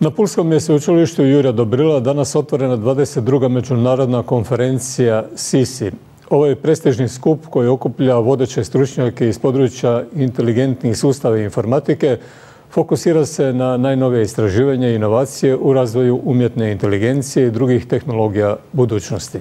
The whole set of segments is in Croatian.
Na Pulskom je sveučilištu Jurja Dobrila danas otvorena 22. međunarodna konferencija SISI. Ovo je prestižni skup koji okuplja vodeće stručnjake iz područja inteligentnih sustava i informatike. Fokusira se na najnovije istraživanja i inovacije u razvoju umjetne inteligencije i drugih tehnologija budućnosti.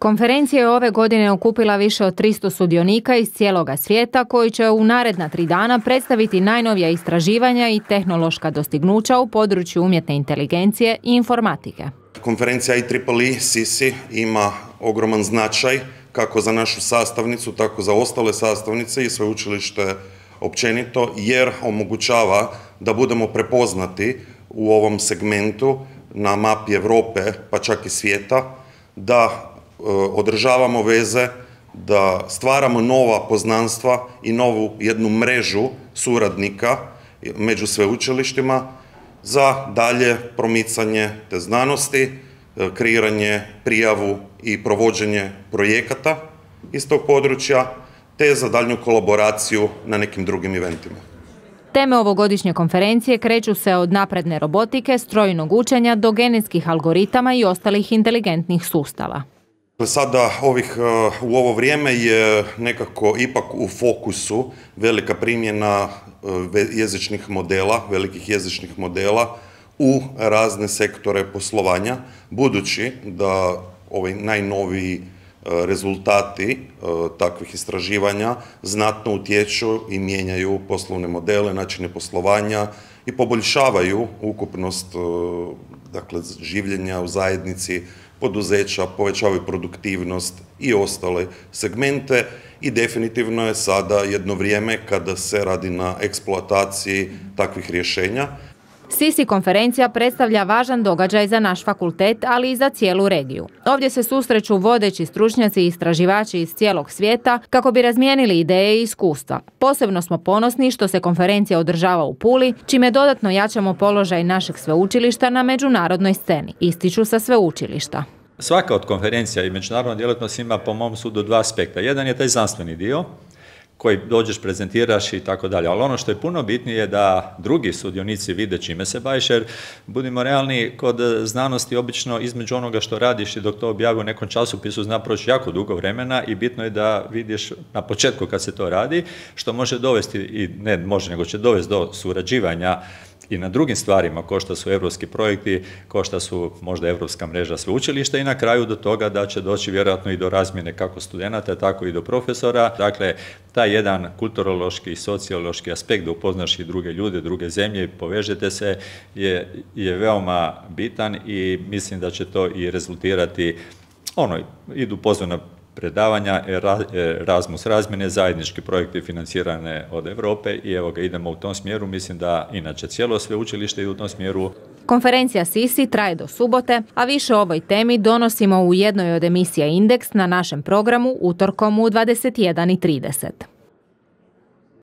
Konferencija je ove godine okupila više od 300 sudionika iz cijeloga svijeta koji će u naredna 3 dana predstaviti najnovija istraživanja i tehnološka dostignuća u području umjetne inteligencije i informatike. Konferencija IEEE SISI ima ogroman značaj kako za našu sastavnicu, tako za ostale sastavnice i sveučilište općenito, jer omogućava da budemo prepoznati u ovom segmentu na mapi Europe, pa čak i svijeta, da održavamo veze, da stvaramo nova poznanstva i novu jednu mrežu suradnika među sveučilištima za dalje promicanje te znanosti, kreiranje, prijavu i provođenje projekata iz tog područja, te za daljnju kolaboraciju na nekim drugim eventima. Teme ovogodišnje konferencije kreću se od napredne robotike, strojnog učenja do genetskih algoritama i ostalih inteligentnih sustava. Sada u ovo vrijeme je nekako ipak u fokusu velika primjena jezičnih modela, velikih jezičnih modela u razne sektore poslovanja, budući da ovi najnoviji rezultati takvih istraživanja znatno utječu i mijenjaju poslovne modele, načine poslovanja i poboljšavaju ukupnost življenja u zajednici, poduzeća, povećavaju produktivnost i ostale segmente i definitivno je sada jedno vrijeme kada se radi na eksploataciji takvih rješenja. SISI konferencija predstavlja važan događaj za naš fakultet, ali i za cijelu regiju. Ovdje se susreću vodeći stručnjaci i istraživači iz cijelog svijeta kako bi razmijenili ideje i iskustva. Posebno smo ponosni što se konferencija održava u Puli, čime dodatno jačamo položaj našeg sveučilišta na međunarodnoj sceni, ističu sa sveučilišta. Svaka od konferencija i međunarodna djelatnost ima po mom sudu 2 aspekta. Jedan je taj znanstveni dio, koji dođeš, prezentiraš i tako dalje. Ali ono što je puno bitnije je da drugi sudionici vide čime se baviš, jer budimo realni, kod znanosti obično između onoga što radiš i dok to objavi u nekom časopisu zna proći jako dugo vremena i bitno je da vidiš na početku kad se to radi, što može dovesti, i ne može, nego će dovesti do surađivanja i na drugim stvarima, kao što su europski projekti, kao što su možda europska mreža sveučilišta i na kraju do toga da će doći vjerojatno i do razmjene kako studenata, tako i do profesora. Dakle, taj jedan kulturološki i sociološki aspekt da upoznaš i druge ljude, druge zemlje, povežete se je veoma bitan i mislim da će to i rezultirati, idu pozvana predavanja, Erasmus razmjene, zajednički projekti financirane od Europe i evo ga, idemo u tom smjeru. Mislim da inače cijelo sveučilište ide u tom smjeru. Konferencija SISI traje do subote, a više o ovoj temi donosimo u jednoj od emisija Indeks na našem programu utorkom u 21:30.